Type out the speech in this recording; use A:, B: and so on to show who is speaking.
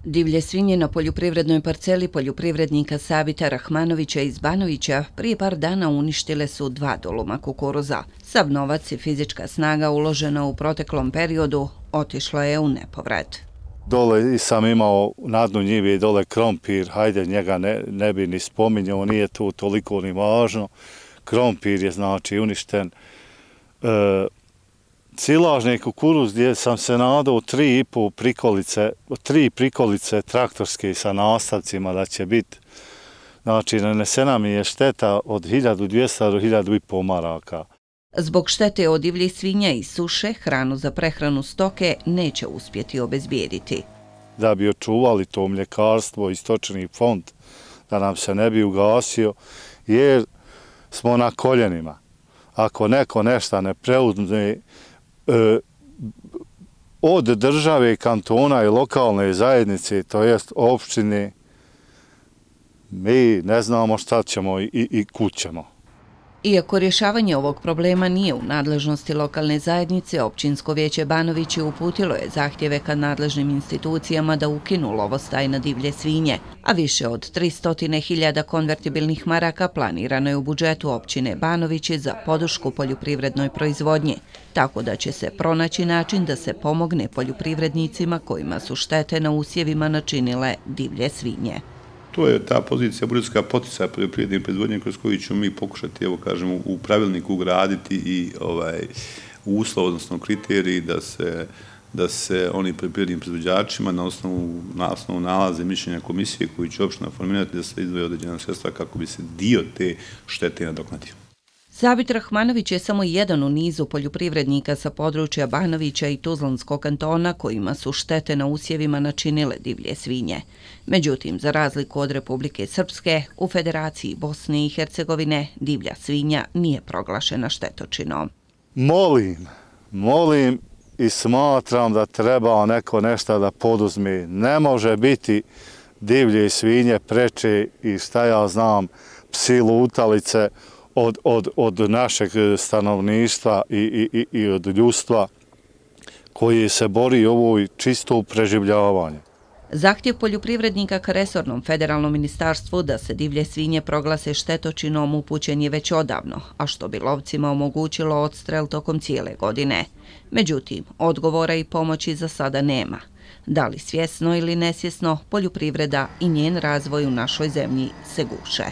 A: Divlje svinje na poljoprivrednoj parceli poljoprivrednika Savita Rahmanovića iz Banovića prije par dana uništile su 2 doluma kukuruza. Sav novac i fizička snaga uložena u proteklom periodu otišlo je u nepovrat.
B: Dole sam imao na dnu njive dole krompir, hajde njega ne bi ni spominjao, nije tu toliko ni važno. Krompir je znači uništen. Silažni kukuruz gdje sam se nadao 3 prikolice traktorske sa nastavcima da će biti. Znači, nanesena mi je šteta od 1200 do 1500 maraka.
A: Zbog štete od divljih svinja i suše, hranu za prehranu stoke neće uspjeti obezbijediti.
B: Da bi očuvali to mljekarstvo i stočni fond, da nam se ne bi ugasio, jer smo na koljenima. Ako neko nešto ne preuzme od države, kantona i lokalne zajednice, to jest opštine, mi ne znamo šta ćemo i kud ćemo.
A: Iako rješavanje ovog problema nije u nadležnosti lokalne zajednice, Općinsko vijeće Banovići uputilo je zahtjeve ka nadležnim institucijama da ukinu lovostaj na divlje svinje, a više od 300.000 konvertibilnih maraka planirano je u budžetu općine Banovići za podršku poljoprivrednoj proizvodnji, tako da će se pronaći način da se pomogne poljoprivrednicima kojima su štete na usjevima načinile divlje svinje.
C: To je ta pozicija budžetska poticaja poljoprivredne proizvodnje kroz koju ćemo mi pokušati, evo kažemo, u pravilniku ugraditi i uslov, odnosno kriteriji da se oni poljoprivrednim proizvođačima na osnovu nalaze mišljenja komisije koju će opština formirati da se izdvoje određena sredstva kako bi se dio te štete nadoknadio.
A: Savit Rahmanović je samo jedan u nizu poljoprivrednika sa područja Banovića i Tuzlanskog kantona kojima su štete na usjevima načinile divlje svinje. Međutim, za razliku od Republike Srpske, u Federaciji Bosne i Hercegovine divlja svinja nije proglašena štetočinom.
B: Molim i smatram da treba neko nešto da poduzme. Ne može biti divlje svinje preče i šta ja znam, psi lutalice od našeg stanovništva i od ljudstva koji se bori ovo čisto preživljavanje.
A: Zahtjev poljoprivrednika ka resornom federalnom ministarstvu da se divlje svinje proglase štetočinom upućen je već odavno, a što bi lovcima omogućilo odstrel tokom cijele godine. Međutim, odgovora i pomoći za sada nema. Da li svjesno ili nesvjesno, poljoprivreda i njen razvoj u našoj zemlji se guše.